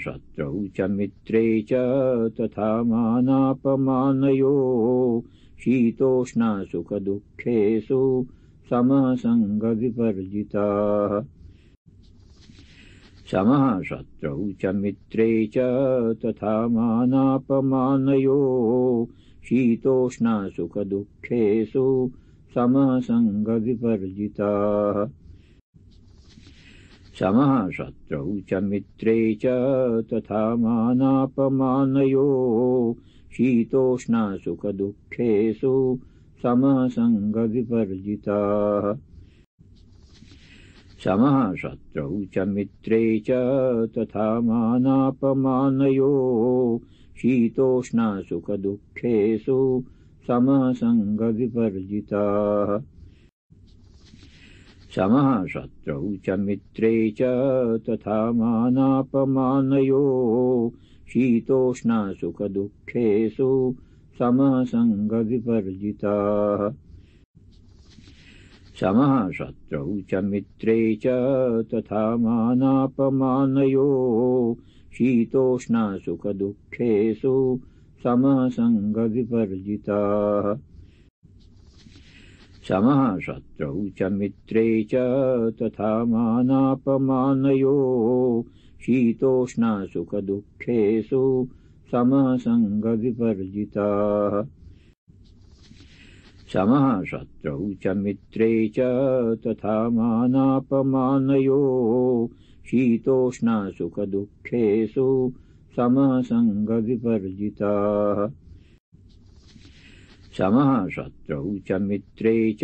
शत्रौ च मित्रे च तथा मानापमानयो शीतोष्णसुखदुःखेषु समसङ्गविवर्जिताः समः शत्रौ च मित्रे च तथा मानापमानयो शीतोष्णसुखदुःखेषु समसङ्गविवर्जिताः समः शत्रौ च मित्रे च तथा मानापमानयो शीतोष्णसुखदुःखेषु समसङ्गविवर्जिताः समः शत्रौ च मित्रे च तथा मानापमानयो शीतोष्णसुखदुःखेषु समसङ्गविवर्जिताः समः शत्रौ च मित्रे च तथा मानापमानयो शीतोष्णसुखदुःखेषु समसङ्गविवर्जिताः समः शत्रौ च मित्रे च तथा मानापमानयो शीतोष्णसुखदुःखेषु समसङ्गविवर्जिताः समः शत्रौ च मित्रे च तथा मानापमानयो शीतोष्णसुखदुःखेषु समसङ्गविवर्जिताः समः शत्रौ च मित्रे च तथा मानापमानयो शीतोष्णसुखदुःखेषु समसङ्गविवर्जिताः समः शत्रौ च मित्रे च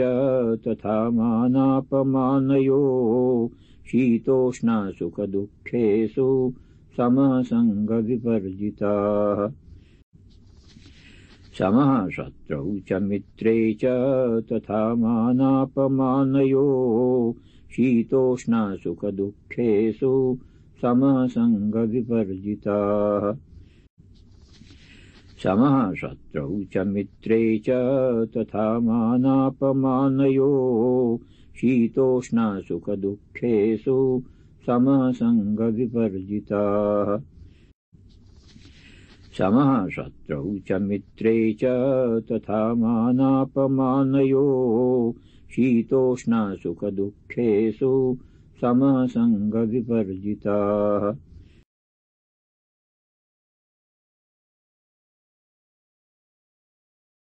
तथा मानापमानयो शीतोष्णसुखदुःखेषु समसङ्गविवर्जिताः समः शत्रौ च मित्रे च तथा मानापमानयो शीतोष्णसुखदुःखेषु समसङ्गविवर्जिताः समः शत्रौ च मित्रे च तथा मानापमानयो शीतोष्णसुखदुःखेषु समसङ्गविवर्जिताः समः शत्रौ च मित्रे च तथा मानापमानयो शीतोष्णसुखदुःखेषु समसङ्गविवर्जिताः